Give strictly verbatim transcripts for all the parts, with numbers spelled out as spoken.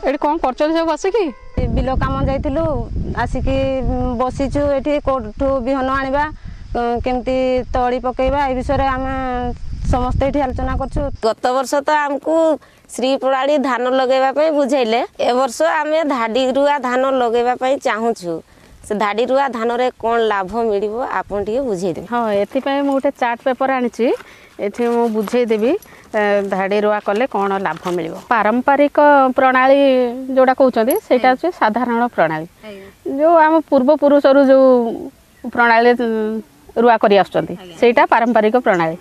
ଏଠି କ'ଣ କରୁଛନ୍ତି ସବୁ ବସିକି? ବିଲ କାମ ଯାଇଥିଲୁ, ଆସିକି ବସିଛୁ ଏଠି। କେଉଁଠୁ ବିହନ ଆଣିବା, କେମିତି ତଳି ପକେଇବା, ଏ ବିଷୟରେ ଆମେ ସମସ୍ତେ ଏଠି ଆଲୋଚନା କରୁଛୁ। ଗତ ବର୍ଷ ତ ଆମକୁ ଶ୍ରୀ ପ୍ରଣାଳୀ ଧାନ ଲଗେଇବା ପାଇଁ ବୁଝେଇଲେ। ଏ ବର୍ଷ ଆମେ ଧାଡ଼ି ରୁଆ ଧାନ ଲଗେଇବା ପାଇଁ ଚାହୁଁଛୁ। ସେ ଧାଡ଼ି ରୁଆ ଧାନରେ କ'ଣ ଲାଭ ମିଳିବ, ଆପଣ ଟିକେ ବୁଝେଇଦେବେ? ହଁ, ଏଥିପାଇଁ ମୁଁ ଗୋଟେ ଚାର୍ଟ ପେପର ଆଣିଛି। ଏଠି ମୁଁ ବୁଝେଇଦେବି ଧାଡ଼ି ରୁଆ କଲେ କ'ଣ ଲାଭ ମିଳିବ। ପାରମ୍ପରିକ ପ୍ରଣାଳୀ ଯେଉଁଟା କହୁଛନ୍ତି, ସେଇଟା ହେଉଛି ସାଧାରଣ ପ୍ରଣାଳୀ, ଯେଉଁ ଆମ ପୂର୍ବପୁରୁଷରୁ ଯେଉଁ ପ୍ରଣାଳୀ ରୁଆ କରି ଆସୁଛନ୍ତି, ସେଇଟା ପାରମ୍ପରିକ ପ୍ରଣାଳୀ।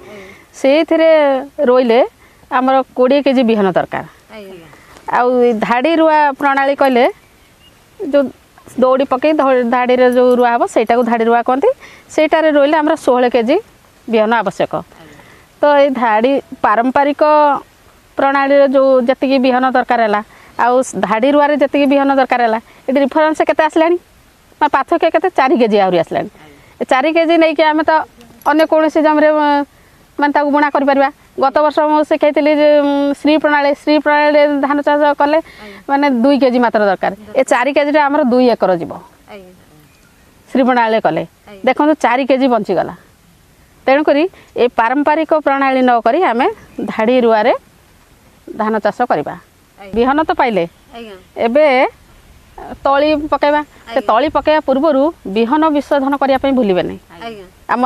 ସେଇଥିରେ ରୋଇଲେ ଆମର କୋଡ଼ିଏ କେଜି ବିହନ ଦରକାର। ଆଉ ଧାଡ଼ି ରୁଆ ପ୍ରଣାଳୀ କହିଲେ ଯେଉଁ ଦଉଡ଼ି ପକାଇ ଧାଡ଼ିରେ ଯେଉଁ ରୁଆ ହେବ, ସେଇଟାକୁ ଧାଡ଼ି ରୁଆ କହନ୍ତି। ସେଇଟାରେ ରୋଇଲେ ଆମର ଷୋହଳ କେଜି ବିହନ ଆବଶ୍ୟକ। ତ ଏଇ ଧାଡ଼ି ପାରମ୍ପରିକ ପ୍ରଣାଳୀରେ ଯେଉଁ ଯେତିକି ବିହନ ଦରକାର ହେଲା ଆଉ ଧାଡ଼ି ରୁଆରେ ଯେତିକି ବିହନ ଦରକାର ହେଲା, ଏଠି ଡିଫରେନ୍ସ କେତେ ଆସିଲାଣି, ମାନେ ପାର୍ଥକ୍ୟ କେତେ? ଚାରି କେଜି ଆହୁରି ଆସିଲାଣି। ଚାରି କେଜି ନେଇକି ଆମେ ତ ଅନ୍ୟ କୌଣସି ଜମିରେ ମାନେ ତାକୁ ବୁଣା କରିପାରିବା। ଗତ ବର୍ଷ ମୁଁ ଶିଖେଇଥିଲି ଯେ ଶ୍ରୀ ପ୍ରଣାଳୀ, ଶ୍ରୀ ପ୍ରଣାଳୀରେ ଧାନ ଚାଷ କଲେ ମାନେ ଦୁଇ କେଜି ମାତ୍ର ଦରକାର। ଏ ଚାରି କେଜିଟା ଆମର ଦୁଇ ଏକର ଯିବ ଶ୍ରୀ ପ୍ରଣାଳୀରେ କଲେ। ଦେଖନ୍ତୁ, ଚାରି କେଜି ବଞ୍ଚିଗଲା। ତେଣୁକରି ଏ ପାରମ୍ପରିକ ପ୍ରଣାଳୀ ନ କରି ଆମେ ଧାଡ଼ି ରୁଆରେ ଧାନ ଚାଷ କରିବା। ବିହନ ତ ପାଇଲେ, ଏବେ ତଳି ପକାଇବା। ସେ ତଳି ପକାଇବା ପୂର୍ବରୁ ବିହନ ବିଶୋଧନ କରିବା ପାଇଁ ଭୁଲିବେନି। ଆମ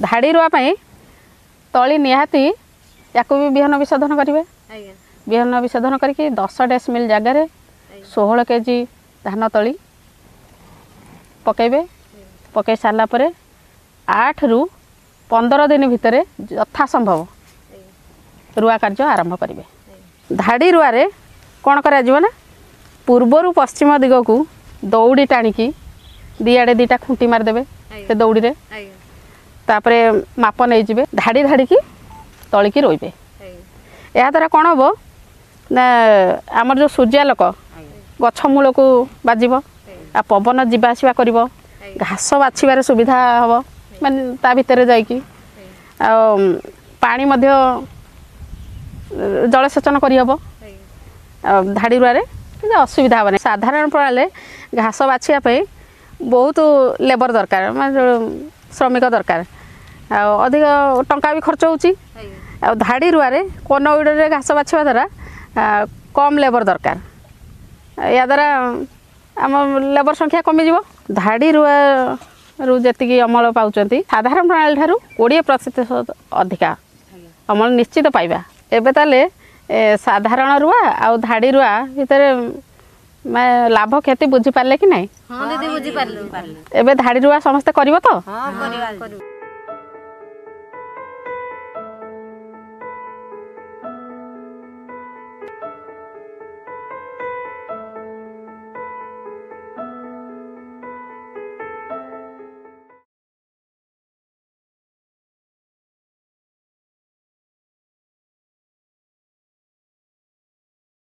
ଧାଡ଼ି ରୁଆ ପାଇଁ ତଳି ନିହାତି, ୟାକୁ ବି ବିହନ ବିଶୋଧନ କରିବେ। ବିହନ ବିଶୋଧନ କରିକି ଦଶ ଡେସିମିଲ୍ ଜାଗାରେ ଷୋହଳ କେଜି ଧାନ ତଳି ପକାଇବେ। ପକାଇ ସାରିଲା ପରେ ଆଠରୁ ପନ୍ଦର ଦିନ ଭିତରେ ଯଥା ସମ୍ଭବ ରୁଆ କାର୍ଯ୍ୟ ଆରମ୍ଭ କରିବେ। ଧାଡ଼ି ରୁଆରେ କ'ଣ କରାଯିବ ନା, ପୂର୍ବରୁ ପଶ୍ଚିମ ଦିଗକୁ ଦଉଡ଼ି ଟାଣିକି ଦିଆଡ଼େ ଦୁଇଟା ଖୁଣ୍ଟି ମାରିଦେବେ ସେ ଦଉଡ଼ିରେ। ତାପରେ ମାପ ନେଇଯିବେ, ଧାଡ଼ି ଧାଡ଼ିକି ତଳିକି ରୋଇବେ। ଏହାଦ୍ୱାରା କ'ଣ ହେବ ନା, ଆମର ଯେଉଁ ସୂର୍ଯ୍ୟାଲୋକ ଗଛ ମୂଳକୁ ବାଜିବ ଆଉ ପବନ ଯିବା ଆସିବା କରିବ, ଘାସ ବାଛିବାରେ ସୁବିଧା ହେବ ମାନେ ତା ଭିତରେ ଯାଇକି, ଆଉ ପାଣି ମଧ୍ୟ ଜଳସେଚନ କରିହେବ। ଆଉ ଧାଡ଼ି ରୁଆରେ କିଛି ଅସୁବିଧା ହେବନି। ସାଧାରଣ ପ୍ରଣାଳୀରେ ଘାସ ବାଛିବା ପାଇଁ ବହୁତ ଲେବର ଦରକାର, ମାନେ ଶ୍ରମିକ ଦରକାର, ଆଉ ଅଧିକ ଟଙ୍କା ବି ଖର୍ଚ୍ଚ ହେଉଛି। ଆଉ ଧାଡ଼ି ରୁଆରେ କୋନ ୱିଡ଼ରରେ ଘାସ ବାଛିବା ଦ୍ୱାରା କମ୍ ଲେବର ଦରକାର। ଏହାଦ୍ୱାରା ଆମ ଲେବର ସଂଖ୍ୟା କମିଯିବ। ଧାଡ଼ି ରୁଆରୁ ଯେତିକି ଅମଳ ପାଉଛନ୍ତି, ସାଧାରଣ ପ୍ରଣାଳୀ ଠାରୁ କୋଡ଼ିଏ ପ୍ରତିଶତ ଅଧିକା ଅମଳ ନିଶ୍ଚିତ ପାଇବା। ଏବେ ତାହେଲେ ସାଧାରଣ ରୁଆ ଆଉ ଧାଡ଼ି ରୁଆ ଭିତରେ ଲାଭ କ୍ଷତି ବୁଝିପାରିଲେ କି ନାହିଁ? ଏବେ ଧାଡ଼ି ରୁଆ ସମସ୍ତେ କରିବ ତ?